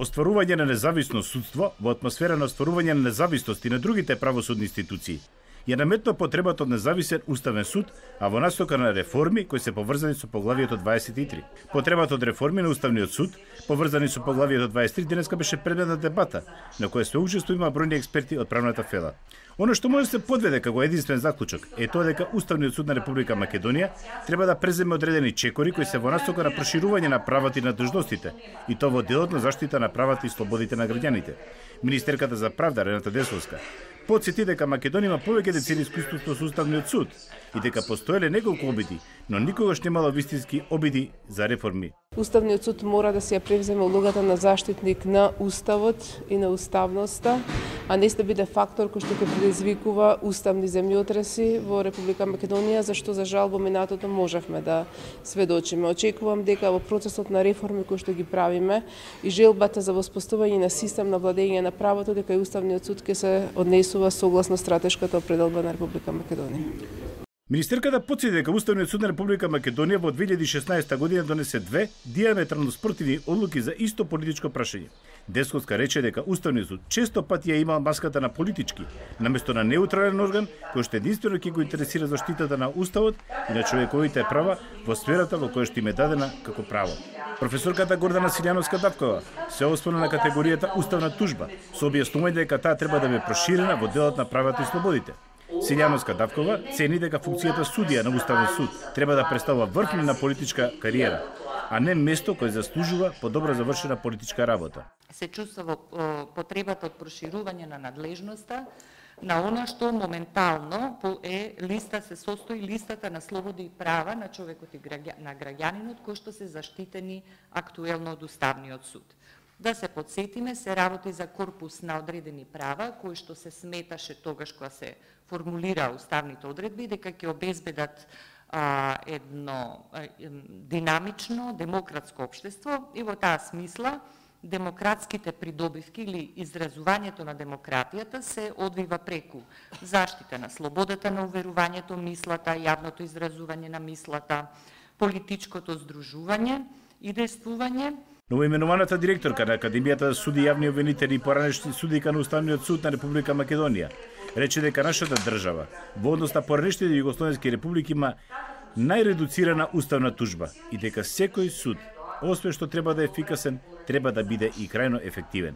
Остварување на независно судство во атмосфера на остварување на независност и на другите правосудни институции ја наметна потребата од независен уставен суд, а во настока на реформи кои се поврзани со поглавието 23. Потребата од реформи на уставниот суд, поврзани со поглавието 23, денеска беше предмет на дебата, на која свеучество има бројни експерти од правната фела. Оно што може да се подведе како единствен заклучок е тоа дека Уставниот суд на Република Македонија треба да преземе одредени чекори кои се во настока на проширување на правата и на длъжностите, и тоа во делот на заштита на правата и слободите на граѓаните. Министерката за правда Рената Десовска потсети дека Македонија има повеќе децени искуство со Уставниот суд и дека постоеле неколку обиди, но никогаш немало вистински обиди за реформи. Уставниот суд мора да се ја превземе улогата на заштитник на уставот и на уставноста, а не да биде фактор кој што ќе предизвикува уставни земјотреси во Република Македонија, зашто за жал во минатото можевме да сведочиме. Очекувам дека во процесот на реформи кои што ги правиме и желбата за воспоставување на систем на владење на правото, дека и Уставниот суд ќе се однесува согласно стратешката определба на Република Македонија. Министерката потсети дека Уставниот суд на Република Македонија во 2016 година донесе две диаметрално спротивни одлуки за исто политичко прашање. Десовска рече дека Уставниот суд често пати ја има маската на политички, наместо на неутрален орган кој што единствено ќе го интересира заштитата на уставот и на човековите права во сферата во која што им е дадена како право. Професорката Гордана Силјановска-Давкова се осврна на категоријата уставна тужба, со објаснување дека таа треба да биде проширена во делот на правата и слободите. Силјановска-Давкова цени дека функцијата судија на Уставен суд треба да представува врхна на политичка кариера, а не место кое заслужува подобро завршена политичка работа. Се чувствува потребата од проширување на надлежноста на она што моментално се состои листата на слободи и права на човекот и на граѓанинот кои што се заштитени актуелно од Уставниот суд. Да се подсетиме, се работи за корпус на одредени права, кои што се сметаше тогаш кога се формулира уставните одредби, дека ќе обезбедат едно динамично, демократско општество и во таа смисла демократските придобивки или изразувањето на демократијата се одвива преку заштита на слободата на уверувањето, мислата, јавното изразување на мислата, политичкото здружување и действување. Новоименуваната директорка на Академијата за суди и јавни обвинители и поранешни судика на Уставниот суд на Република Македонија рече дека нашата држава во однос на поранешните југословенски републики има најредуцирана уставна тужба и дека секој суд, освен што треба да е ефикасен, треба да биде и крајно ефективен.